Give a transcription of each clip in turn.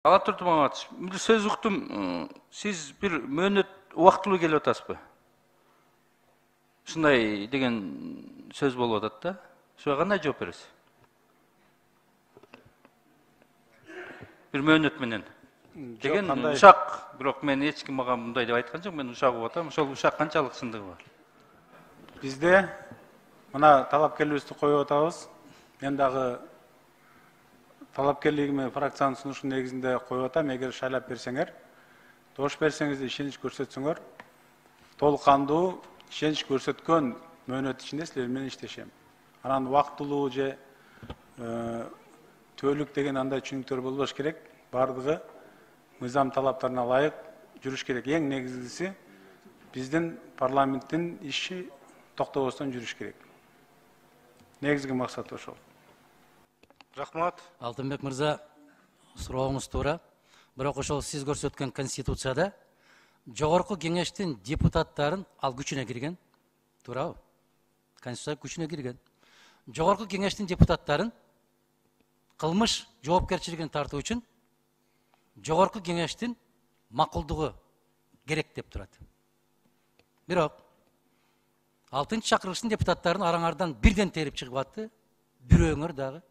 Талап Турдумаматович, бир сөз уктум. Сиз бир мөөнөт убактылуу келип атасызбы? Ушундай деген сөз болуп атат да. Ошого кандай жооп бересиз? Бир мөөнөт менен. Деген ушак, бирок мен эч ким мага мындай деп айткан жок. Мен ушак угуп атам. Ошол ушак канчалык чындыгы бар? Бизде мына талапкерлигибизди коюп атабыз. Мен дагы талапкерлигими фракциянын сунушу негизинде коюп атам. Эгер шайлап берсеңер, добуш берсеңиз, ишенич көрсөтсөңөр, толук кандуу ишенич көрсөткөн мөөнөт ичинде силер менен иштешем. Анан убактылуу же төөлүк деген андай түшүнүктөр болбош керек. Бардыгы мыйзам талаптарына ылайык жүрүш керек. Эң негизгиси биздин парламенттин иши токтобостон жүрүш керек. Негизги максат ошол. Рахмат. Алтынбек мырза, сурооңуз туура. Бирок ошол сиз көрсөткөн конституцияда жогорку кеңештин депутаттарын ал күчүнө кирген. Туурабы? Конституция күчүнө кирген. Жогорку кеңештин депутаттарын кылмыш жоопкерчилигине тартуу үчүн жогорку кеңештин макулдугу керек деп турат. Бирок 6-чакырылыштын депутаттарын араңардан бирден терип чыгып атты. Бирөөңөр дагы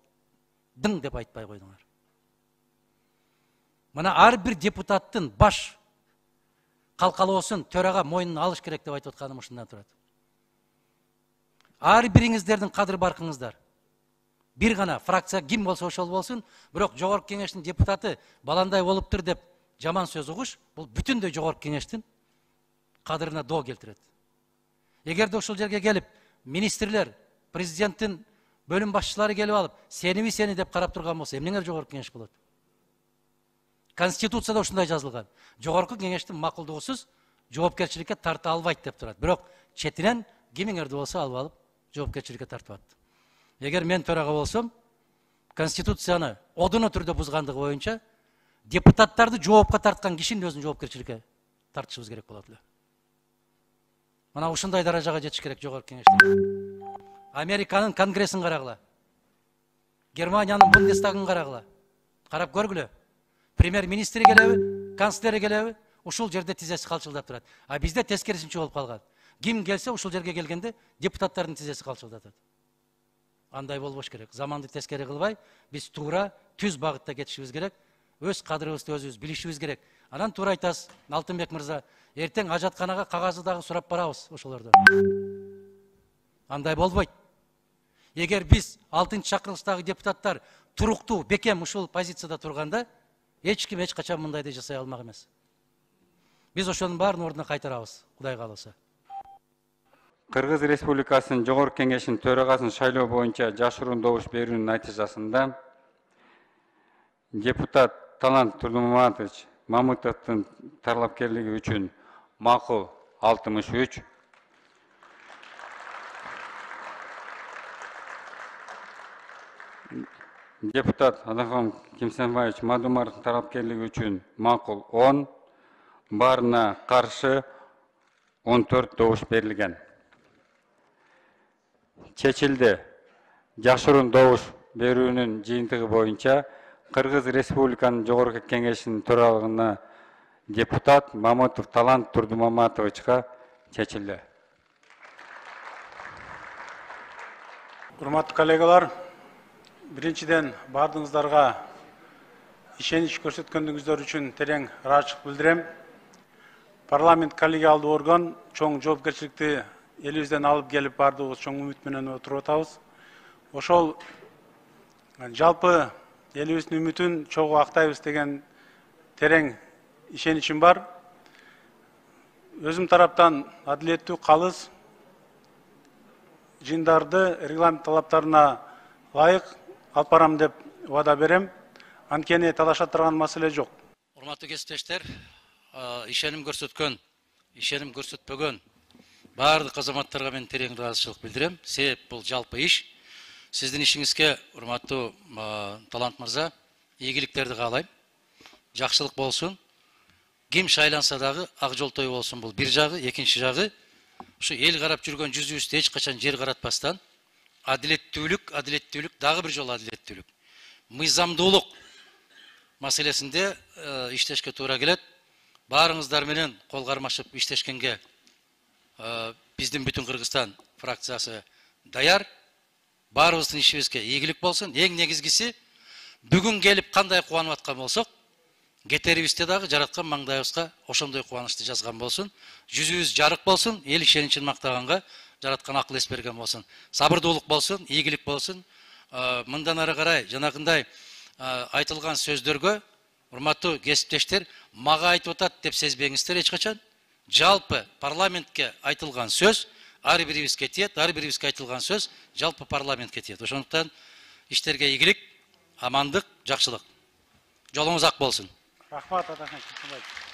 дың деп айтпай койдуңар. Мына ар бир депутаттын баш калкалоосун төрага мойнуна алыш керек деп айтып атканым ушундан турат. Ар бириңиздердин кадыр баркыңыздар. Бир гана фракция ким болсо ошол болсун, бирок жогорку кеңештин депутаты баландай болуптур деп жаман сөз угуш, бул бүтүндөй жогорку кеңештин кадырына доо келтирет. Эгерде ошол жерге келип, министрлер, президенттин бөлүм башчылары келип алып, сени деп карап турган болсо, эмнеңе жогорку кеңеш болот? Конституцияда ушундай жазылган. Жогорку кеңештин макулдугусуз жоопкерчиликке тарта албайт деп турат. Бирок четинен кимиңерди болсо алып жоопкерчиликке тартып атты. Эгер мен төрага болсом, конституцияны одуно түрдө бузгандыгы боюнча депутаттарды жоопка тарткан кишинин өзүн жоопкерчиликке тартышыбыз керек болот эле. Мына ушундай даражага жетиш керек жогорку кеңеште. Американын конгрессин карагыла. Германиянын Бундестагын карагыла. Карап көргүлө. Премьер-министри келеби, канцлери келеби, ушул жерде тизеси калчылдап турат. А бизде тескерисинче болуп калган. Ким келсе ушул жерге келгенде депутаттардын тизеси калчылдатат. Андай болбош керек. Заманды тескери кылбай, биз туура түз багытта кетишибиз керек. Өз кадырыбызды өзүбүз билишибиз керек. Анан туура айтасыз, Алтынбек мырза, эртең ажатканага кагазды дагы сурап барабыз ошолордон. Андай болбойт. Эгер биз 6-чакырылыштагы депутаттар туруктуу, бекем ушул позицияда турганда, эч ким эч качан мындайды жасай алмак эмес. Биз ошонун баарын ордуна кайтарабыз, Кудай кааласа. Кыргыз Республикасынын Жогорку Кеңешинин төрагасын шайлоо боюнча жашыруун добуш берүүнүн натыйжасында депутат Талант Турдумаматович Мамытовдун талапкерлиги үчүн макул 63, депутат Адахон Кимсенбаевич Мадумаровдун талапкерлиги үчүн макул 10, баарына каршы 14 добуш берилген. Чечилди. Жашыруун добуш берүүнүн жыйынтыгы боюнча Кыргыз Республиканын Жогорку Кеңешинин төралыгына депутат Мамытов Талант Турдумаматовичка чечилди. Урматтуу коллегалар, биринчиден бардыгыңыздарга ишенич көрсөткөндүгүңүздөр үчүн терең ыраазычылык билдирем. Парламент коллегиалдуу орган чоң жоопкерчиликти элибизден алып келип бардыгыбыз чоң үмүт менен отуруп атабыз. Ошол жалпы элибиздин үмүтүн чогуу актайбыз деген терең ишеничим бар. Өзүм тараптан адилеттүү, калыс жыйындарды регламент талаптарына ылайык алып барам деп убада берем. Анткени талаша турган маселе жок. Урматтуу кесиптештер, ишеним көрсөтпөгөн баардык азаматтарга мен терең ыраазычылык билдирем. Себеп бул жалпы иш. Сиздин ишиңизге, урматтуу Талант мырза, ийгиликтерди каалайм. Жакшылык болсун. Ким шайланса дагы ак жолтой болсун, бул бир жагы, экинчи жагы ушу эл карап жүргөн жүзүбүздү эч качан жер каратпастан адилеттүүлүк, дагы бир жолу адилеттүүлүк. Мыйзамдуулук маселесинде иштешке туура келет. Баарыңыздар менен кол кармашып иштешкенге биздин бүтүн Кыргызстан фракциясы даяр. Баарыбыздын ишибизге ийгилик болсун. Эң негизгиси бүгүн келип кандай кубанып аткан болсок, кетерибизде дагы жараткан маңдайыбызга ошондой кубанычты жазган болсун. Жүзүбүз жарык болсун, эл ишеничин мактаганга жараткан акыл эс берген болсун. Сабырдуулук болсун, ийгилик болсун. Мындан ары карай жанагындай айтылган сөздөргө урматтуу кесиптештер, мага айтып атат деп сезбеңиздер эч качан. Жалпы парламентке айтылган сөз ар бирибизге тиет, ар бирибизге айтылган сөз жалпы парламентке тиет. Ошондуктан иштерге ийгилик, амандык, жакшылык. Жолуңуз ак болсун. Рахмат, Атахан Кырсынбаев.